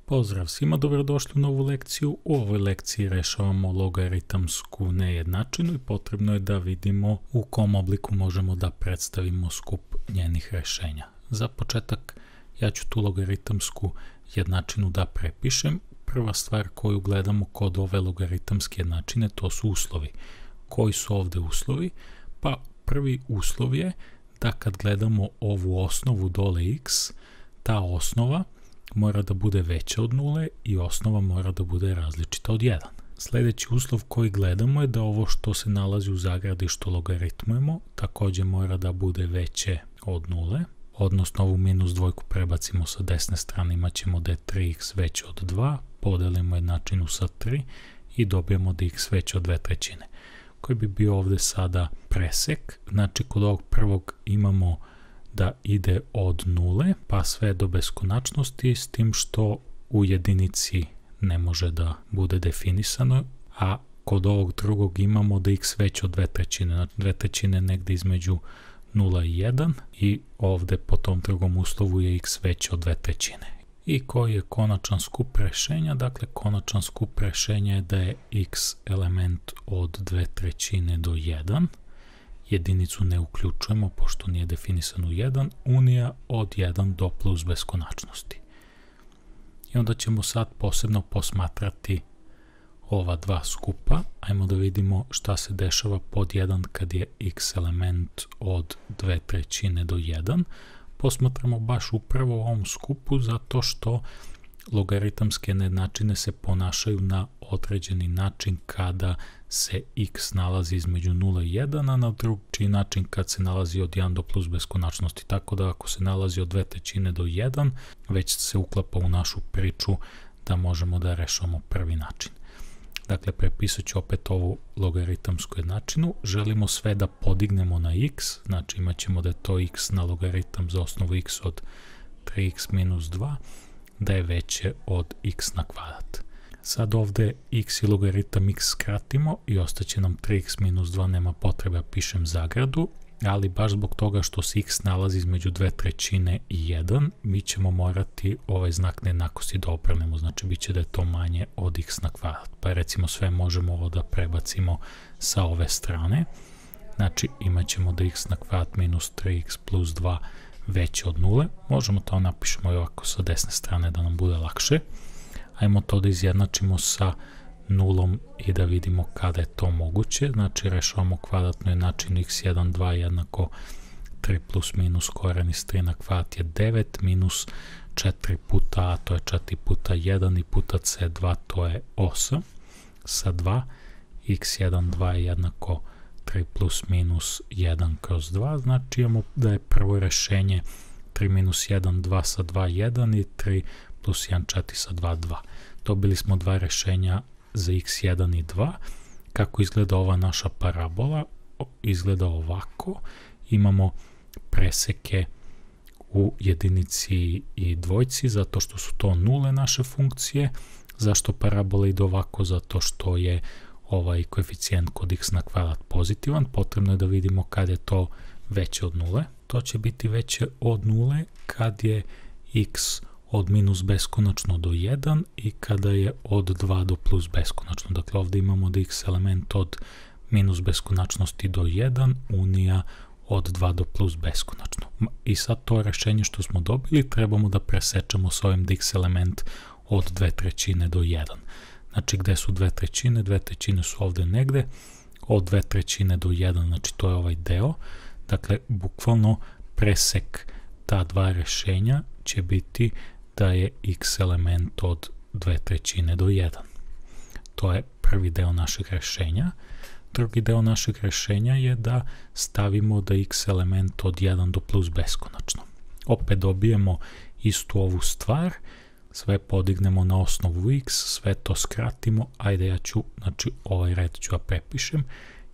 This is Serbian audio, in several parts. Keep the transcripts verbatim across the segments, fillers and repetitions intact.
Pozdrav svima, dobrodošli u novu lekciju. U ovoj lekciji rešavamo logaritamsku nejednačinu i potrebno je da vidimo u kom obliku možemo da predstavimo skup njenih rešenja. Za početak ja ću tu logaritamsku jednačinu da prepišem. Prva stvar koju gledamo kod ove logaritamske jednačine to su uslovi. Koji su ovde uslovi? Pa prvi uslov je da kad gledamo ovu osnovu dole x, ta osnova mora da bude veća od nule i osnova mora da bude različita od jedan. Sljedeći uslov koji gledamo je da ovo što se nalazi u zagradi što logaritmujemo takođe mora da bude veće od nule, odnosno ovu minus dvojku prebacimo sa desne strane, imat ćemo da je tri x veće od dva, podelimo jednačinu sa tri i dobijemo da je x veće od dve trećine. Koji bi bio ovde sada presek, znači kod ovog prvog imamo da ide od nule pa sve do beskonačnosti, s tim što u jedinici ne može da bude definisano, a kod ovog drugog imamo da x veće od dve trećine, znači dve trećine negde između nula i jedan i ovde po tom drugom uslovu je x veće od dve trećine. I koji je konačan skup rešenja? Dakle, konačan skup rešenja je da je x element od dve trećine do jedan, jedinicu ne uključujemo pošto nije definisan u jedan, unija od jedan do plus beskonačnosti. I onda ćemo sad posebno posmatrati ova dva skupa. Ajmo da vidimo šta se dešava pod jedan kad je x element od dve trećine do jedan. Posmatramo baš upravo u ovom skupu zato što logaritamske nejednačine se ponašaju na određeni način kada se x nalazi između nula i jedan, a na drugi način kad se nalazi od jedan do plus beskonačnosti. Tako da ako se nalazi od dve trećine do jedan, već se uklapa u našu priču da možemo da rešavamo prvi način. Dakle, prepisat ću opet ovu logaritamsku jednačinu. Želimo sve da podignemo na x, znači imat ćemo da je to x na logaritam za osnovu x od tri x minus dva, da je veće od x na kvadrat. Sad ovde x i logaritam x skratimo i ostaće nam tri x minus dva, nema potrebe da pišem zagradu, ali baš zbog toga što se x nalazi između dve trećine i jedan, mi ćemo morati ovaj znak nejednakosti da obrnemo, znači bit će da je to manje od x na kvadrat. Pa recimo sve možemo ovo da prebacimo sa ove strane, znači imat ćemo da x na kvadrat minus tri x plus dva veće od nule, možemo to napišemo i ovako sa desne strane da nam bude lakše. Ajmo to da izjednačimo sa nulom i da vidimo kada je to moguće, znači rešavamo kvadratnu jednačinu x jedan, dva jednako tri plus minus koren iz tri na kvadrat je devet, minus četiri puta a, to je četiri puta jedan i puta c dva, to je osam, sa dva, x jedan, dva je jednako tri plus minus jedan kroz dva, znači imamo da je prvo rešenje tri minus jedan, dva sa dva, jedan i tri plus jedan, četiri sa dva, dva. Dobili smo dva rešenja za x jedan i dva. Kako izgleda ova naša parabola? Izgleda ovako. Imamo preseke u jedinici i dvojci zato što su to nule naše funkcije. Zašto parabola ide ovako? Zato što je ovaj koeficijent kod x na kvadrat pozitivan. Potrebno je da vidimo kad je to veće od nule. To će biti veće od nule kad je x od minus beskonačno do jedan i kada je od dva do plus beskonačno. Dakle, ovde imamo da x element od minus beskonačnosti do jedan, unija od dva do plus beskonačno. I sad to rešenje što smo dobili trebamo da presečemo s ovim da x element od dve trećine do jedan. Znači, gde su dve trećine? Dve trećine su ovde negde, od dve trećine do jedan, znači to je ovaj deo. Dakle, bukvalno presek ta dva rešenja će biti da je x element od dve trećine do jedan. To je prvi deo našeg rešenja. Drugi deo našeg rešenja je da stavimo da x element od jedan do plus beskonačno. Opet dobijemo istu ovu stvar, sve podignemo na osnovu x, sve to skratimo, ajde ja ću, znači ovaj red ću ja prepišem,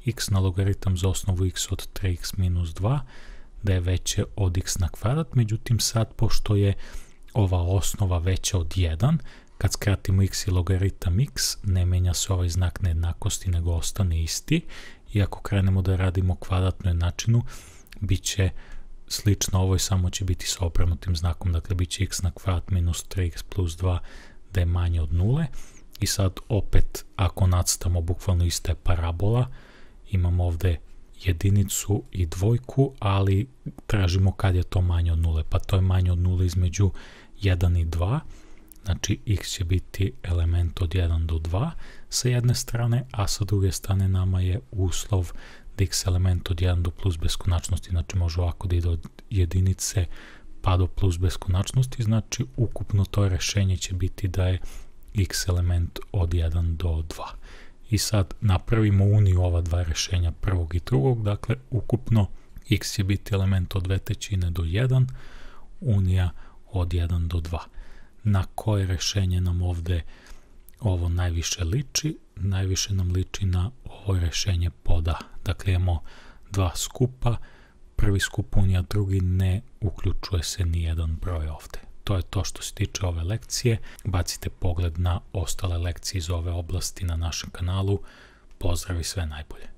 x na logaritam za osnovu x od tri x minus dva, da je veće od x na kvadrat, međutim sad pošto je ova osnova veća od jedan, kad skratimo x i logaritam x, ne menja se ovaj znak nejednakosti, nego ostane isti. I ako krenemo da radimo kvadratnu jednačinu, bit će slično ovoj, samo će biti sa obrnutim znakom, dakle bit će x na kvadrat minus tri x plus dva, da je manje od nule. I sad opet, ako nacrtamo bukvalno ista je parabola, imamo ovde jedinicu i dvojku, ali tražimo kad je to manje od nule, pa to je manje od nule između jedan i dva, znači x će biti element od jedan do dva sa jedne strane, a sa druge strane nama je uslov da x element od jedan do plus beskonačnosti, znači može ovako da ide od jedinice pa do plus beskonačnosti, znači ukupno to rešenje će biti da je x element od jedan do dva. I sad napravimo uniju ova dva rešenja prvog i drugog, dakle ukupno x će biti element od dve trećine do jedan, unija od jedan do dva. Na koje rešenje nam ovde ovo najviše liči? Najviše nam liči na ovo rešenje pod A. Dakle imamo dva skupa, prvi skup unija, drugi ne uključuje se ni jedan broj ovde. To je to što se tiče ove lekcije. Bacite pogled na ostale lekcije iz ove oblasti na našem kanalu. Pozdrav i sve najbolje.